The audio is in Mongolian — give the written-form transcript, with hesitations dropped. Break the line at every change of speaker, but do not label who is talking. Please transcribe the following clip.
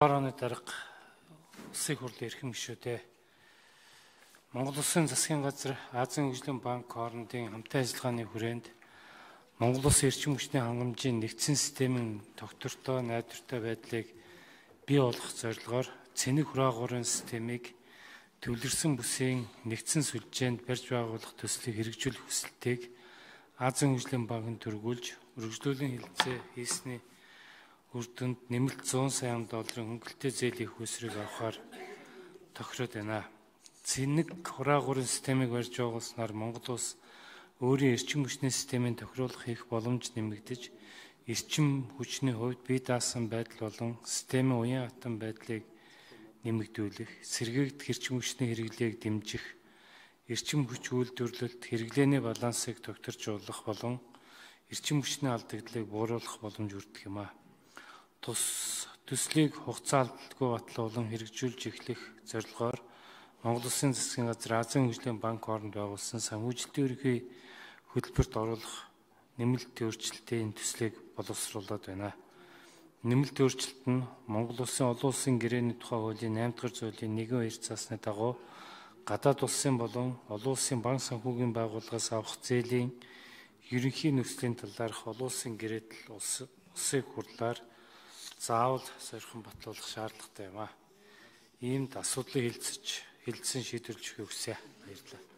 Орооны дарга улсын хурлын эрхэм гишүүдээ Монгол Улсын засгийн газар Азийн хөгжлийн банк хоорондын хамтын ажиллагааны хүрээнд Монгол Улсын эрчим хүчний хангамжийн нэгдсэн системийн тогтвортой, найдвартай байдлыг бий болгох зорилгоор цэник хураагуурын системийг төвлөрсөн бүсийн нэгдсэн сүлжээнд барьж байгуулах төслийг хэрэгжүүлэх хүсэлтийг Азийн хөгжлийн банкнд төргүүлж үргэлжлүүлэн хэлэлцээ хийсний үр дүнд нэмэлт 100 сая долларын хөнгөлөлтөө зээлийн хөөсрийг авахар тохироод байна. Цэник хураагуурын системийг барьж байгуулснаар Монгол улс өөрийн эрчим хүчний системийн тохируулах хийх боломж нэмэгдэж, эрчим хүчний хувьд бие даасан байдал болон системийн уян хатан байдлыг нэмэгдүүлэх, сэргээгдэх эрчим хүчний хэрэглээг дэмжих, эрчим хүч үйлдвэрлэлд хэрэглээний балансыг тогтворжуулах болон эрчим хүчний алдагдлыг бууруулах боломж өртөх юм а. Төслийг хугацаа алдалгүй батлуулан хэрэгжүүлж эхлэх зорилгоор Монгол Улсын засгийн газар Азийн хөгжлийн банк хооронд байгуулсан санхүүжилтийн ерөнхий хөтөлбөрт оруулах нэмэлт өөрчлөлтийн төслийг боловсруулад байна. Нэмэлт өөрчлөлт нь Монгол Улсын олон улсын гэрээний тухай хуулийн 8 дугаар зүйлийн 1-2 цаасны дагуу гадаад улсын болон олон улсын банк санхүүгийн байгууллагаас авах зээлийн ерөнхий нөхцөлийн талаарх олон улсын гэрээтэл улсын хурлаар заавал сойрхон батлуулах шаардлагатай юм а. Иймд асуудлыг хэлэлцэн шийдвэрлэхийг хүсье. Баярлалаа.